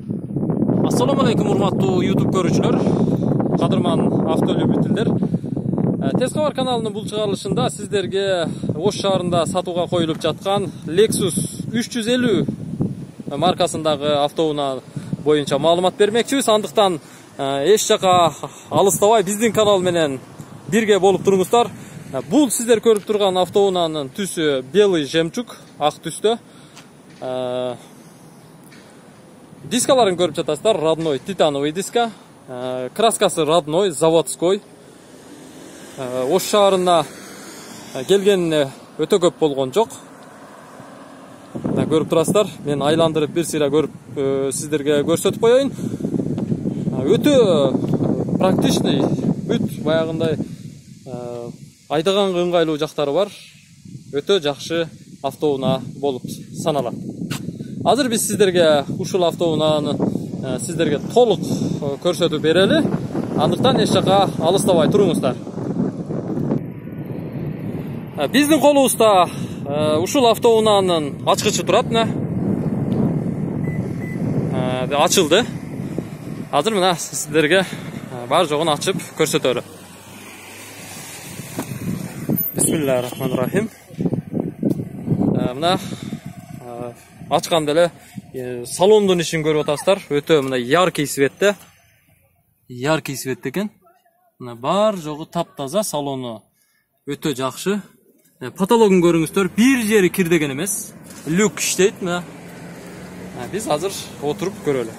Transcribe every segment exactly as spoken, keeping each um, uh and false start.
Assalamu alaikum урматтуу YouTube көрүүчүлөр, кадырман автолюбительдер. Тез кабар каналынын бул чыгарылышында сиздерге Ош шаарында сатууга коюлуп жаткан Lexus үч жүз элүү маркасындагы автоунаа боюнча маалымат бермекчибиз. Андыктан эч жака алыстабай биздин канал менен бирге болуп туруңуздар. Бул сиздер көрүп турган автоунаанын түсү белый жемчуг, ак түстө. Дискаларын көрүп жатасыздар, родной титановый диска. Краскасы родной, заводской. Ош шаарына келгенине өтө көп болгон жок. Көрүп турасыздар, мен айландырып бир сыйра көрүп сиздерге көрсөтүп коеюн. Өтө практичный, бүт баягындай айдаганга ыңгайлуу жактары бар. Өтө жакшы автоунаа болуп саналат. Азыр биз сиздерге ушул автоунааны сиздерге толук көрсөтүп берели. Андыктан эч жака алыстабай туруңуздар. Биздин колубузда ушул автоунаанын ачкычы турат. Ачылды. Азыр мына сиздерге бар жогун ачып көрсөтөлү. Бисмиллахир-рахманир-рахим. Мына ачканда эле салондун ишин көрүп атасыздар. Өтө мына яркий светте. Яркий свет экен. Мына бар жогу таптаза, салону өтө жакшы. Потологун көрүңүздөр, бир жери кирдеген эмес. Люк иштейт мына. Биз азыр отуруп көрөлү.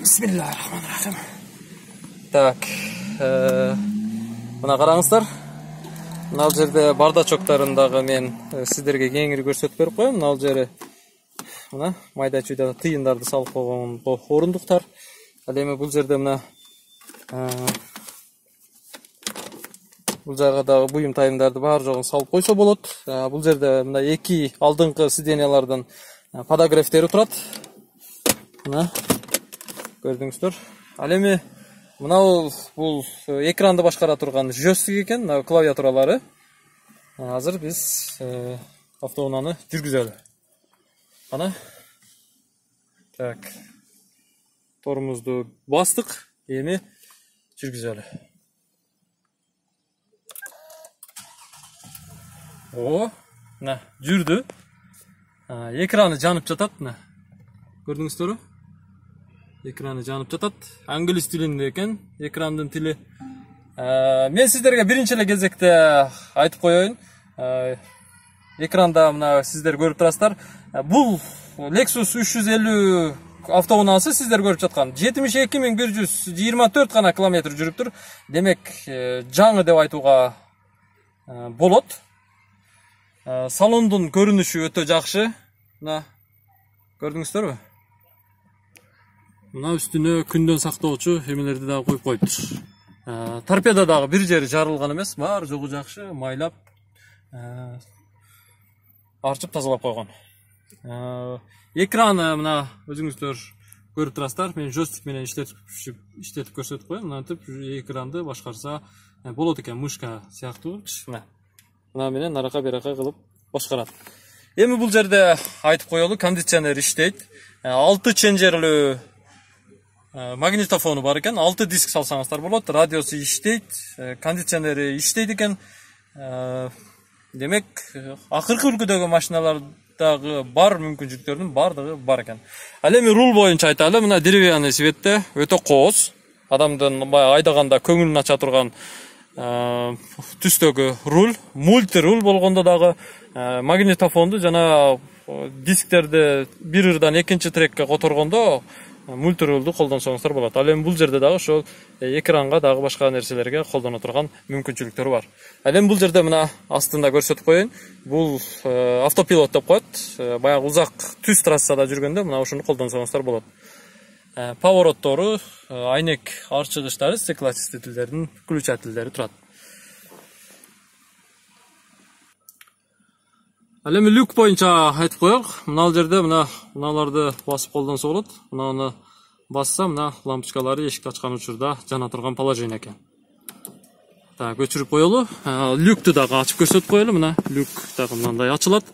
Бисмиллахир-рахманир-рахим. Так, мына караңыздар. Мына жерде бардачоктарындагы мен сиздерге кеңири көрсөтүп берип коем. Мына жери мына майда чүйдө тыйындарды салып койгон орундуктар. Ал эми бул жерде мына бул жайга дагы буюм тайымдарды бар жогун салып койсо болот. Бул жерде мына эки алдыңкы сиденьялардын подогревтери турат. Мына көрдүңүздөр. Ал эми мына бул экранды башкара турган жёстик экен, мына клавиатуралары. Азыр биз автоунааны жүргүзөлү. Ана. Так. Торумузду бастык, эми жүргүзөлү. О, мына жүрдү. Экраны жанып жатат, мына. Көрдүңүздөрбү? Экраны жанып жатат. Англис тилинде экен, экрандын тили. Мен сиздерге биринчи эле кезекте айтып коеюн. Экранда мына сиздер көрүп турасыздар. Бул Lexus үч жүз элүү автоунаасы сиздер көрүп жаткан жетимиш эки миң бир жүз жыйырма төрт гана километр жүрүптүр. Демек, жаңы деп айтууга болот. Салондун көрүнүшү өтө жакшы. Мына көрдүңүздөрбү? Мына үстүнө күндөн сактоочу эмелерди дагы коюп коюптур. Торпеда дагы бир жери жарылган эмес, бар жогу жакшы, майлап, арчып тазалап койгон. Экраны мына өзүңүздөр көрүп турасыздар. Мен жёстик менен иштетип иштетип көрсөтүп коем. Мынантип экранды башкарса болот экен, мышка сыяктуу. Мына. Мына менен арака берака кылып башкарат. Эми бул жерде айтып коелу, кондиционер иштейт. алты ченжерлүү магнитофону бар экен. алты диск салсаңыздар болот. Радиосу иштейт, кондиционери иштейт экен. Демек, акыркы үлгүдөгү машиналардагы бар мүмкүнчүлүктөрдүн бардыгы бар экен. Ал эми рул боюнча айталы, мына деревянный светте, өтө кооз. Адамдын баягы айдаганда көңүлүн ача турган түстөгү руль, мульти руль болгондо дагы магнитофонду жана дисктерди бир ырдан экинчи трекке которгондо мульти рулду колдонсоңуздар болот. Ал эми бул жерде дагы ошол экранга дагы башка нерселерге колдоно турган мүмкүнчүлүктөр бар. Ал эми бул жерде мына астында көрсөтүп коеюн. Бул автопилот деп коет. Баягы узак түз трассада жүргөндө мына ушуну колдонсоңуздар болот. Повороттору, айнек арчыгычтары, стеклоочистительдердин включателдери турат. Ал эми люк боюнча айтып коелук. Мына жерде мына мыналарды басып колдонсо болот. Мынаны басса, мына лампочкалары эшикти ачкан учурда жана турган положение экен. Так, өчүрүп коелу. Люкту дагы ачып көрсөтүп коелу. Мына люк дагы мындай ачылат.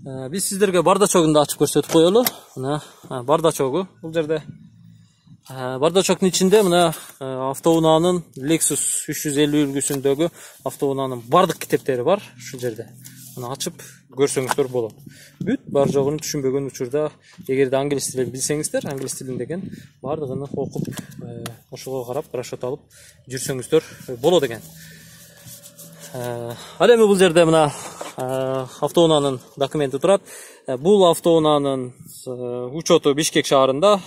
Биз сиздерге бардачогун да ачып көрсөтүп коелу. Мына бардачогу бул жерде. Бардачоктун ичинде мына автоунаанын Lexus үч жүз элүү үлгүсүндөгү автоунаанын бардык китептери бар ушул жерде. Мына ачып көрсөңүздөр болот. Бүт бар жогун түшүнбөгөн учурда эгерде англис тилин билсеңиздер, англис тилин деген бардыгын окуп, ошого карап расчет алып жүрсөңүздөр болот экен. Ал эми бул жерде мына автоунаанын документи турат. Бул автоунаанын учету Бишкек шаарында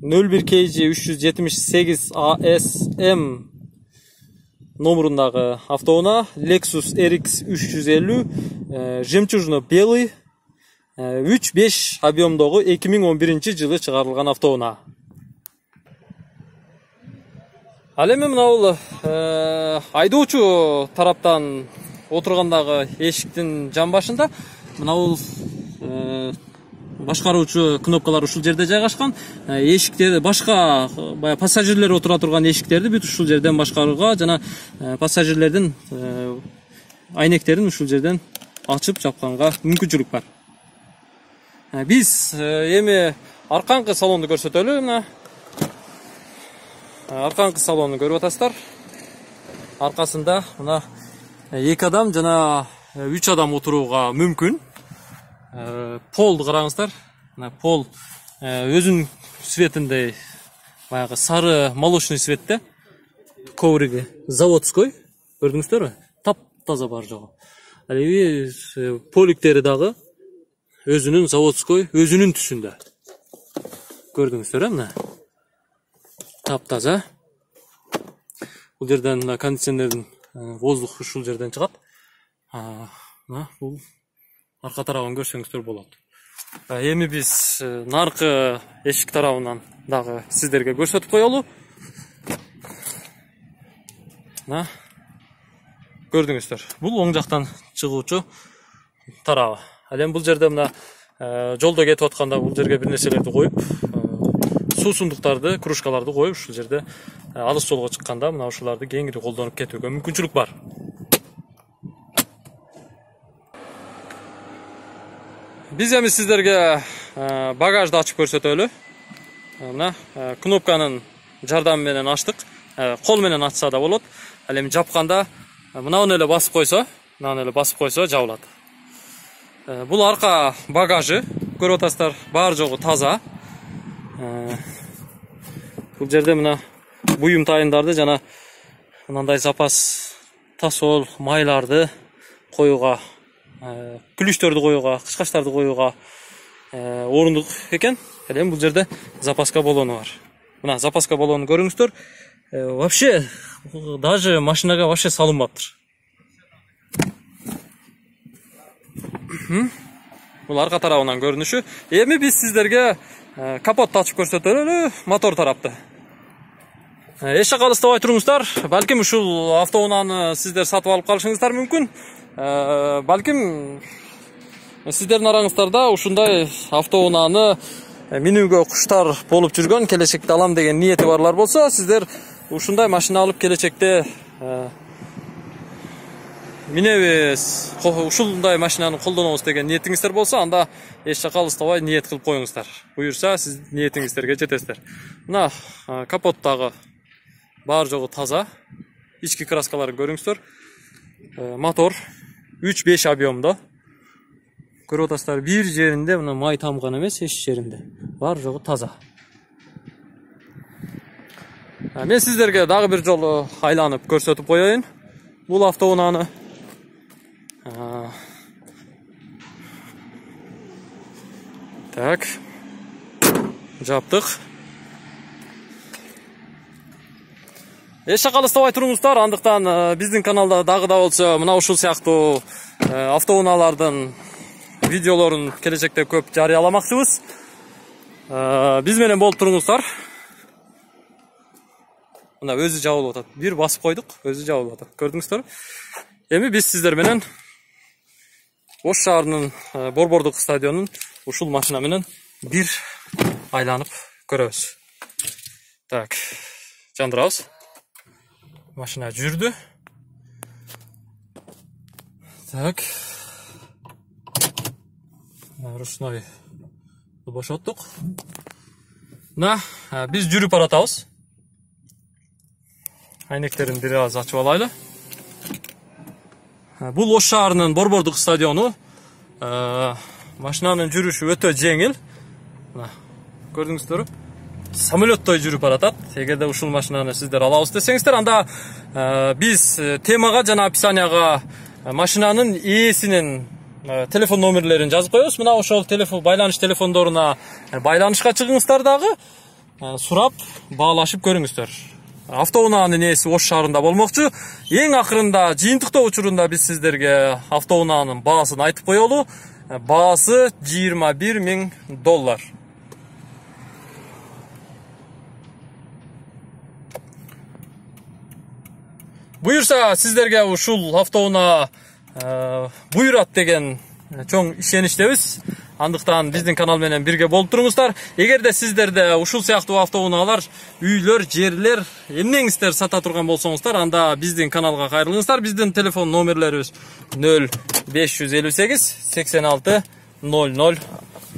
нөл бир К Ж үч жүз жетимиш сегиз А С М номерундагы автоунаа Lexus R X үч жүз элүү жемчужно белый үч беш объемдогу эки миң он биринчи жылы чыгарылган автоунаа. Ал эми мына бул айдоочу тараптан отургандагы эшиктин жан башында мына бул башкаруучу кнопкалар ушул жерде жайгашкан. Эшиктерди башка баягы пассажирлер отура турган эшиктерди бүт ушул жерден башкарууга жана пассажирлердин айнектерин ушул жерден ачып жапканга мүмкүнчүлүк бар. Биз эми арканкы салонду көрсөтөлү. Мына арканкы салонду көрүп атасыздар. Аркасында мына эки адам жана үч адам отурууга мүмкүн. Полду караңыздар. Мына пол өзүнүн цветинде баягы сары молочный цветте. Ковриги заводской. Көрдүңүздөрбү? Таптаза бар жогу. Ал эми поликтери дагы өзүнүн заводской, өзүнүн түсүндө. Көрдүңүздөр, мына. Таптаза. Бул жерден кондиционердин воздух ушул жерден чыгат. Мына бул арка тарабын көрсөңүздөр болот. Эми биз наркы эшик тарабынан дагы сиздерге көрсөтүп коелу. Мына көрдүңүздөр. Бул оң жактан чыгуучу тарабы. Ал эми бул жерде мына жолдо кетип атканда бул жерге бир нерселерди коюп, суусундуктарды, кружкаларды коюп, ушул жерде алыс жолго чыкканда мына ушуларды кеңири колдонуп кетүүгө мүмкүнчүлүк бар. Биз эми сиздерге багажды ачып көрсөтөлү. Мына кнопканын жардамы менен ачтык. Кол менен ачса да болот. Ал эми жапканда мынаны эле басып койсо, мынаны эле басып койсо жабылат. Бул арка багажы. Көрүп атасыздар, баары жогу таза. Бул жерде мына буюм тайындарды жана мындай запас тосол, майларды коюуга, күлүчтөрдү коюуга, кычкачтарды коюуга орундук экен. Ал эми бул жерде запаска баллону бар. Мына запаска баллонун көрүңүздөр. Вообще даже машинага вообще салынбаптыр. Бул арка тарабынан көрүнүшү. Эми биз сиздерге капотту ачып көрсөтөлү, мотор тарапты. Эч жакка алыстабай туруңуздар. Балким ушул автоунааны сиздер сатып алып калышыңыздар мүмкүн. Балким сиздердин араңыздарда ушундай автоунааны минүүгө куштар болуп жүргөн, келечекте алам деген ниети барлар болсо, сиздер ушундай машина алып келечекте минебиз, ушундай машинаны колдонобуз деген ниетиңиздер болсо, анда эч жакка алыстабай ниет кылып коюңуздар. Буюрса, сиз ниетиңиздерге жетесиздер. Мына капоттагы баары жогу таза. Ички краскаларын көрүңүздөр. Мотор үч беш объемдо. Көрүп атасыздар, бир жеринде мына май тамган эмес, эч жеринде. Баары жогу таза. Мен сиздерге дагы бир жолу айланып көрсөтүп коеюн бул автоунааны. Так. Жаптык. Эч жакка алыстабай туруңуздар, андыктан биздин каналда дагы да болсо мына ушул сыяктуу автоунаалардын видеолорун келечекте көп жарыяламакчыбыз. Биз менен болуп туруңуздар. Мына өзү жабылып атат. Бир басып койдук, өзү жабылып атат. Көрдүңүздөр? Эми биз сиздер менен Ош шаарынын Борбордук стадионун ушул машина менен бир айланып көрөбүз. Так, жандырабыз. Машина жүрдү. Так, ручной бошоттук. Мына биз жүрүп баратабыз. Айнектерин бир аз ачып алайлы. Бул Ош шаарынын Борбордук стадиону. Машинанын жүрүшү өтө жеңил. Мына көрдүңүздөрбү? Самолеттой жүрүп баратат. Эгерде ушул машинаны сиздер алабыз десеңиздер, анда биз темага жана описанияга машинанын ээсинин телефон номерлерин жазып коебуз. Мына ошол телефон байланыш телефондоруна байланышка чыгыңыздар дагы, сурап баалашып көрүңүздөр. Автоунаанын ээси Ош шаарында болмокчу. Эң акырында жыйынтыктоо учурунда биз сиздерге автоунаанын баасын айтып коелу. Баасы жыйырма бир миң доллар. Буюрса сиздерге ушул автоунаа буйрат деген чоң ишеничтебиз. Андыктан биздин канал менен бирге болуп туруңуздар. Эгерде сиздерде ушул сыяктуу автоунаалар, үйлөр, жерлер, эмнеңиздер сата турган болсоңуздар, анда биздин каналга кайрылыңыздар. Биздин телефон номерлерибиз нөл беш жүз элүү сегиз сексен алты ноль ноль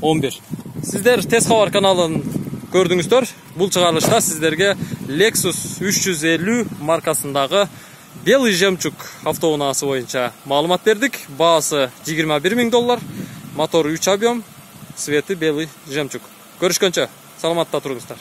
он бир. Сиздер Тез кабар каналын көрдүңүздөр. Бул чыгарылышта сиздерге Lexus үч жүз элүү маркасындагы Белый жемчуг автоунаасы боюнча маалымат бердик. Баасы жыйырма бир миң доллар. Мотор үч объем, цвети белый жемчуг. Көрүшкөнчө, саламатта туруңуздар.